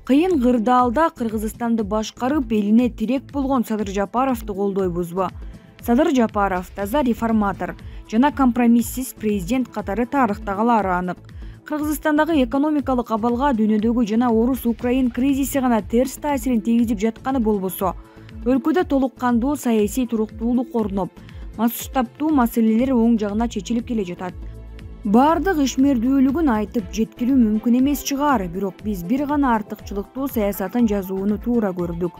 Кыйын кырдаалда Кыргызстанды башкарып, элине тирек болгон Садыр Жапаровду колдойбузбу? Садыр Жапаров таза реформатор жана компромиссиз президент катары тарыхта калары анык. Кыргызстандагы экономикалык абалга дүйнөдөгү жана орус-украин кризиси гана терс таасирин тийгизип жатканы болбосо, өлкөдө толук кандуу саясий туруктуулук орноп, масштабтуу маселелер оң жагына чечилип келе жатат. Бардык ишмердүүлүгүн айтып жеткирүү мүмкүн эмес чыгар, бирок биз бир гана артыкчылыктуу саясатын жазууну туура көрдүк.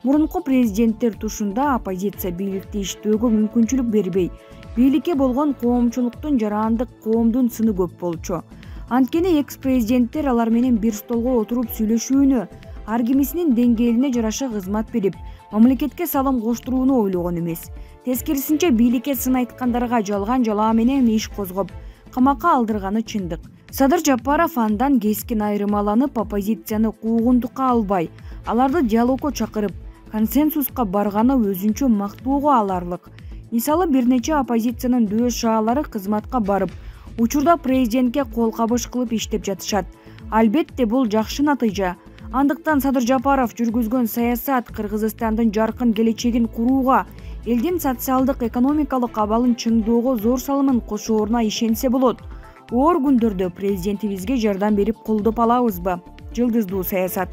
Мурунку президенттер тушунда оппозиция бийликти иштөөгө мүмкүнчүлүк бербей, бийликке болгон коомчулуктун жарандык коомдун сыны көп болчу. Анткени экс-президенттер алар менен бир столго отуруп сүйлөшүүнү, ар кимисинин деңгээлине жараша кызмат берип, мамлекетке салым коштурууну ойлогон эмес. Тескерисинче бийликке сын айткандарга жалган жалаа менен иш козгоп, камакка алдырганы чындык. Садыр Жапаров андан кескин айырмаланып, оппозицияны куугунтукка албай, аларды диалогко чакырып, консенсуска барганы өзүнчө мактоого аларлык. Мисалы, бир нече оппозициянын дөш шаалары кызматка барып, учурда президентке кол кабыш кылып иштеп жатышат. Албетте бул жакшы натыйжа. Андыктан Садыр Жапаров жүргүзгөн саясат Кыргызстандын жаркын келечегин курууга, элдин социалдык экономикалык абалын чыңдоого зор салымын кошооруна ишенсе болот. Оор күндөрдө президентибизге жардам берип колдоп алабызбы? Жылдыздуу саясат.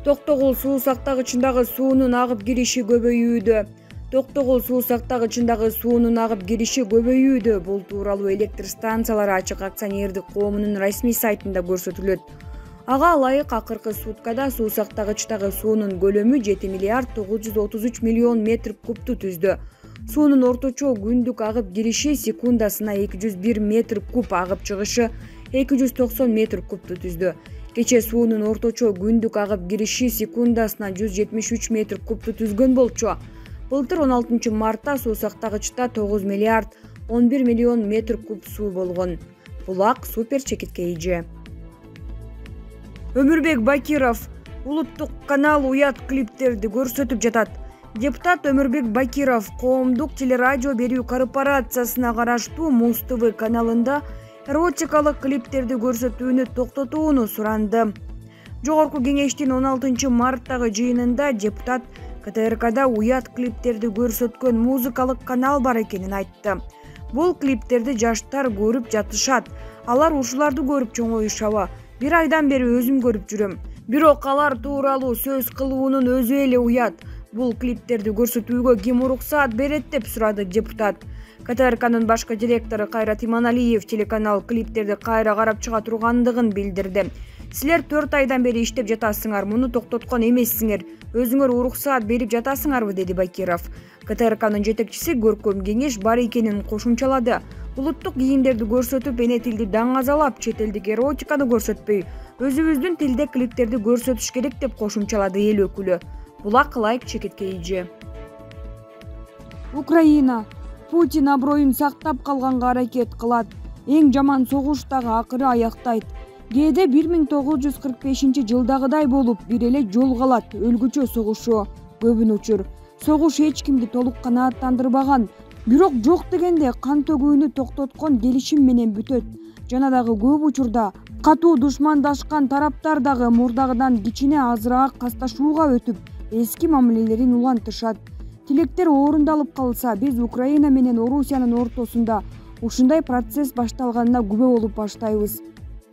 Токтогул суу сактагычындагы суунун агып кириши көбөйүүдө. Токтогул суу сактагычындагы суунун агып кириши көбөйүүдө. Бул тууралуу электр станциялары ачык акционердик коомунун расмий сайтында көрсөтүлөт. Ага ылайык акыркы суткада суу сактагычтагы суунун көлөмү 7 миллиард 933 миллион метр кубту түздү. Суунун орточо күндүк агып кириши секундасына 201 метр куб, агып чыгышы 290 метр кубту түздү. Кече суунун орточо күндүк агып кириши секундасына 173 метр кубту түзгөн болчу. Былтыр 16 мартта суу сактагычта 9 миллиард 11 миллион метр куб суу болгон. Булак супер чекитке ийже. Өмүрбек Бакиров улуттук канал уят клиптерди көрсөтүп жатат. Депутат Өмүрбек Бакиров коомдук телерадио берүү корпорациясына караштуу Муз ТВ каналында эротикалык клиптерди көрсөтүүнү токтотууну суранды. Жогорку кеңештин 16 марттагы жыйынында депутат КТРКда уят клиптерди көрсөткөн музыкалык канал бар экенин айтты. Бул клиптерди жаштар көрүп жатышат. Алар ушуларды көрүп чоңоюшабы? Бир айдан бери өзүм көрүп жүрөм. Бирок алар тууралуу сөз кылуунун өзү эле уят. Бул клиптерди көрсөтүүгө ким уруксаат берет деп сурады депутат. КТРКнын башкы директору Кайрат Иманалиев телеканал клиптерди кайра карап чыга тургандыгын билдирди. Силер 4 айдан бери иштеп жатасыңар, муну токтоткон эмессиңер. Өзүңөр уруксаат берип жатасыңарбы, деди Бакиров. КТРКнын жетекчиси көркөм кеңеш бар экенин кошумчалады. Улуттук кийимдерди көрсөтүп, эне тилди даңазалап, чет элдик эротиканы көрсөтпөй, өзүбүздүн тилде клиптерди көрсөтүш керек деп кошумчалады эл өкүлү. Булак ылайык чекитке ийже. Украина Путин аброюн сактап калганга аракет кылат. Эң жаман согуш дагы акыры аяктайт. Кээде 1945-жылдагыдай болуп бир эле жол калат, өлгүчө согушу. Көбүн учур согуш эч кимди толук канааттандырбаган, бирок жок дегенде кан төгүүнү токтоткон келишим менен бүтөт. Жана дагы көп учурда катуу душмандашкан тараптар дагы мурдагыдан кичине азыраак касташууга өтүп, эски мамилелерин улантышат. Тилектер орундалып калса, биз Украина менен Орусиянын ортосунда ушундай процесс башталганына күбө болуп баштайбыз.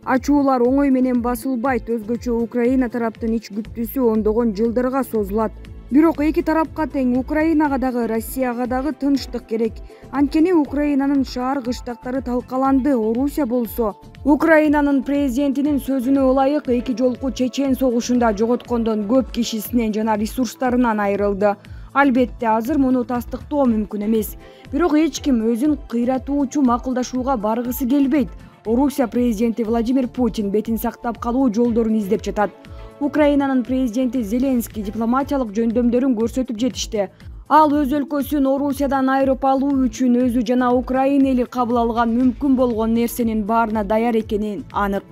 Ачуулар оңой менен басылбайт, өзгөчө Украина тараптын ич күптүүсү ондогон жылдарга созулат. Бирок эки тарапка тең, Украинага дагы, Россияга дагы тынчтык керек. Анткени Украинанын шаар кыштактары талкаланды. Орусия болсо Украинанын президентинин сөзүнө ылайык эки жолку чечен согушунда жоготкондон көп кишисинен жана ресурстарынан айрылды. Албетте азыр муну тастыктоо мүмкүн эмес. Бирок эч ким өзүн кыйратуучу макулдашууга баргысы келбейт. Орусия президенти Владимир Путин бетин сактап калуу жолдорун издеп жатат. Украинанын президенти Зеленский дипломатиялык жөндөмдөрүн көрсөтүп жетишти. Ал өз өлкөсүн Орусиядан айырып алуу үчүн өзү жана Украина эли кабыл алган мүмкүн болгон нерсенин баарына даяр экени анык.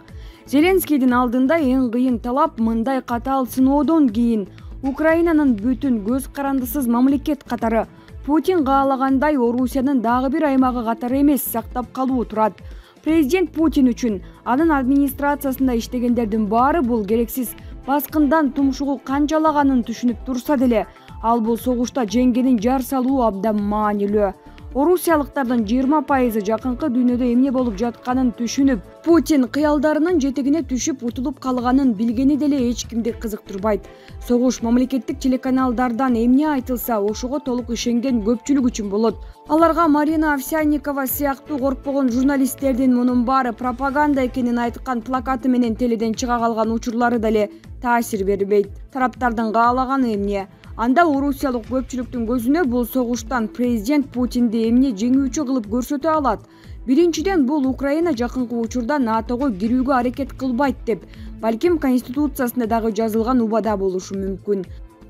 Зеленскийдин алдында эң кыйын талап мындай катаал сыноодон кийин Украинанын бүтүн көз карандысыз мамлекет Путин каалагандай Орусиянын дагы бир аймагы катары эмес сактап калуу турат. Президент Путин үчүн анын администрациясында иштегендердин баары бул керексиз баскындан тумшугу канчалаганын түшүнүп турса деле, ал бул согушта жеңгенин жар салуу абдан маанилүү. Орусиялыктардын 20% жакынкы дүйнөдө эмне болуп жатканын түшүнүп, Путин кыялдарынын жетегине түшүп утулуп калганын билгени деле эч кимди кызыктырбайт. Согуш мамлекеттик телеканалдардан эмне айтылса, ошого толук ишенген көпчүлүк үчүн болот. Аларга Марина Овсянникова сыяктуу коркпогон журналисттердин мунун баары пропаганда экенин айткан плакаты менен теледен чыга калган учурлары деле таасир бербейт. Тараптардын каалаганы эмне? Анда орусиялык көпчүлүктүн көзүнө бул согуштан президент Путинди эмне жеңүүчү кылып көрсөтө алат? Биринчиден, бул Украина жакынкы учурда НАТОго кирүүгө аракет кылбайт деп, балким Конституциясында дагы жазылган убада болушу мүмкүн.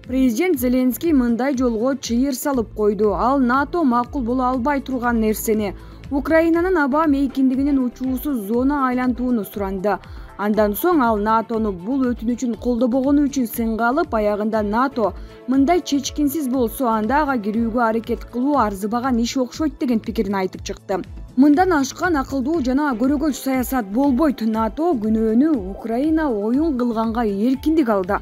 Президент Зеленский мындай жолго чыйыр салып койду. Ал НАТО макул боло албай турган нерсени, Украинанын аба мейкиндигинин учуусуз зона айлантууну суранды. Андан соң ал НАТОну бул өтүнүчүн колдобогону үчүн сынга алып, аягында НАТО мындай чечкинсиз болсо, анда ага кирүүгө аракет кылуу арзыбаган иш окшойт деген пикирин айтып чыкты. Мындан ашкан акылдуу жана көрөгөч саясат болбойт. НАТО күнөөнү Украина оюн кылганга эркиндик алды.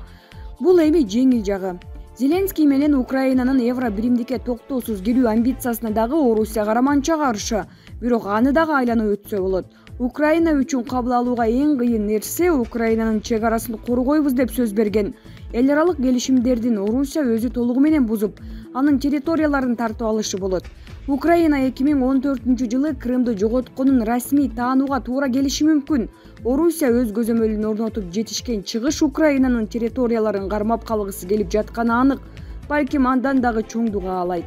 Бул эми жеңил жагы. Зеленский менен Украинанын евро биримдикке токтоосуз кирүү амбициясына дагы Орусия караманча каршы, бирок аны дагы айланып өтсө болот. Украина үчүн кабыл алууга эң кыйын нерсе Украинанын чек арасын коргойбуз деп сөз берген эл аралык келишимдердин Орусия өзү толугу менен бузуп, анын территорияларын тартып алышы болот. Украина 2014-жылы Крымды жоготконун расмий таанууга туура келиши мүмкүн. Орусия өз көзөмөлүн орнотуп жетишкен чыгыш Украинанын территорияларын кармап калгысы келип жатканы анык, балким андан дагы чоңду каалайт.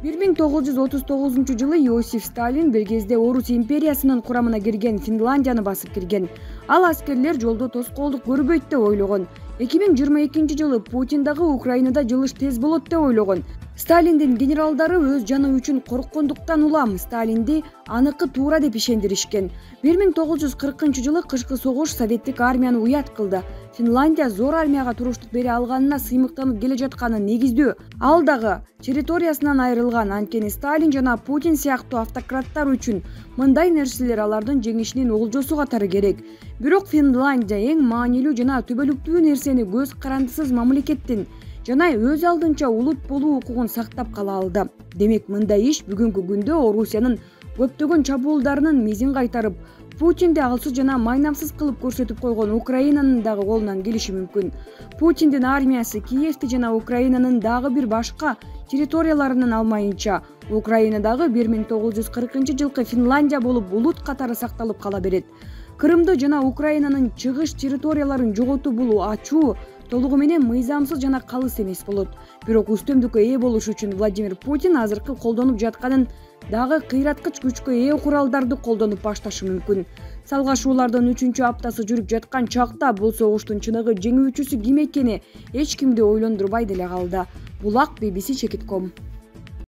1939-жылы Иосиф Сталин бир кезде Орус империясынын курамына кирген Финляндияны басып кирген. Ал аскерлер жолдо тоскоолдук көрбөйт деп ойлогон. 2022-жылы Путин дагы Украинада жылыш тез болот деп ойлогон. Сталиндин генералдары өз жаны үчүн корккондуктан улам Сталинди аныкы туура деп ишендиришкен. 1940-жылы кышкы согуш советтик армияны уят кылды. Финляндия зор армияга туруштук бере алганына сыймыктанып келе жатканы негиздүү. Ал дагы территориясынан айрылган. Анткени Сталин жана Путин сыяктуу автократтар үчүн мындай нерселер алардын жеңишинин олжосу катары керек. Бирок Финляндия эң маанилүү жана түбөлүктүү нерсени көз карандысыз мамлекеттин жана өз алдынча улут болуу укугун сактап кала алды. Демек, мындай иш бүгүнкү күндө Орусиянын көптөгөн чабуулдарынын мизин кайтарып, Путинди алсыз жана майнамсыз кылып көрсөтүп койгон Украинанын дагы колунан келиши мүмкүн. Путиндин армиясы Киевти жана Украинанын дагы бир башка территорияларынан алмайынча, Украинадагы 1940-жылкы Финляндия болуп улут катары сакталып кала берет. Крымды жана Украинанын чыгыш территорияларын жоготуу бул ачуу, толугу менен мыйзамсыз жана калыс эмес болот. Бирок үстөмдүккө ээ болуш үчүн Владимир Путин азыркы колдонуп жатканын дагы кыйраткыч күчкө ээ куралдарды колдонуп башташы мүмкүн. Салгашуулардын 3-аптасы жүрүп жаткан чакта бул согуштун чыныгы жеңүүчүсү ким экени эч кимди ойлондурбай деле калды. Булак BBC Чекитком.